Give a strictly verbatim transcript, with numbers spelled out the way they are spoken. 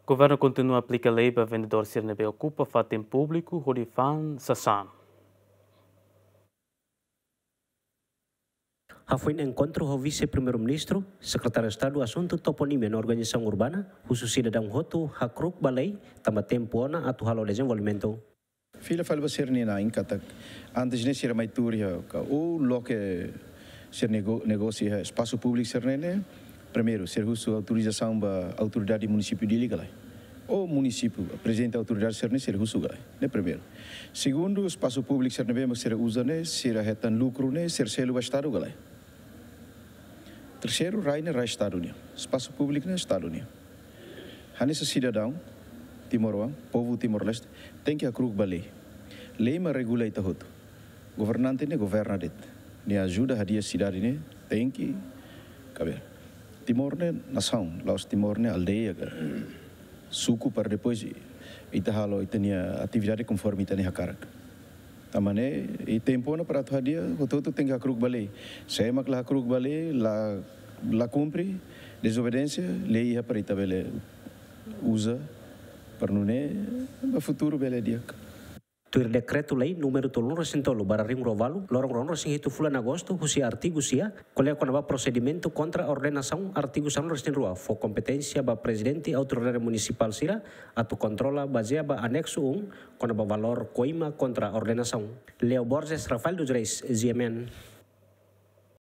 Governu kontinua aplika lei ba vendedór sira ne'ebé okupa fatin públiku hodi fa'an sasán. Hafoin enkontru ho Vise-Primeiru-Ministru, Sekretáriu Estadu Asuntu Toponímia no Organizasaun Urbana, husu sidadaun hotu hakru'uk ba lei, tanba tempu ona atu halo dezenvolvimentu. Fila fali ba sira-nia na'in katak, antes ne'e sira mai tuur iha ka ou loke sira nego-, negósiu iha espasu públiku sira-ne'e ne'e, primeiru, sira husu autorizasaun ba autoridade munisípiu Dili ka lae. Ou munisípiu, prezidente autoridade sira-ne'e sira husu ka lae. Ne'e primeiru. Segundu, espasu públiku sira ne'ebé mak sira uza ne'e, sira hetan lukru ne'e, sira selu ba Estadu ka lae. Terseiru, rai ne'e rai Estadu nian. Espasu públiku ne'e Estadu nian. Hanesan sidadaun timoroan, povu Timor-Leste, tenke hakru'uk ba lei. Lei mak regula ita hotu. Governante ne'e governa de'it. Nia ajuda hadi'a sidade ne'e, tenke, kabe. Timor ne'e nasaun, la'ós Timor ne'e aldeia ka suku para depois ita halo ita-nia atividade konforme ita-nia hakarak. Tanba ne'e, iha tempu ona para atu hadi'a, hotu-hotu tenke hakru'uk ba lei. Se ema la hakru'uk ba lei, la, la kumpre, dezobediénsia, lei iha para ita bele uza, para nune'e ba futuru bele di'ak. Tuir Dekretu-Lei númeru tolunulu-resin-tolu barra rihun rua-ualu, loron ruanulu-resin-hitu fulan Agostu, husi artigu sia, ko'alia kona-ba prosedimentu kontra ordenasaun, artigu sanulu-resin-rua, fó kompeténsia ba Prezidente Autoridade Munisipál sira atu kontrola bazeia ba aneksu um, kona-ba valór koima kontra ordenasaun. Leo Borges, Rafael dos Reis, G M N.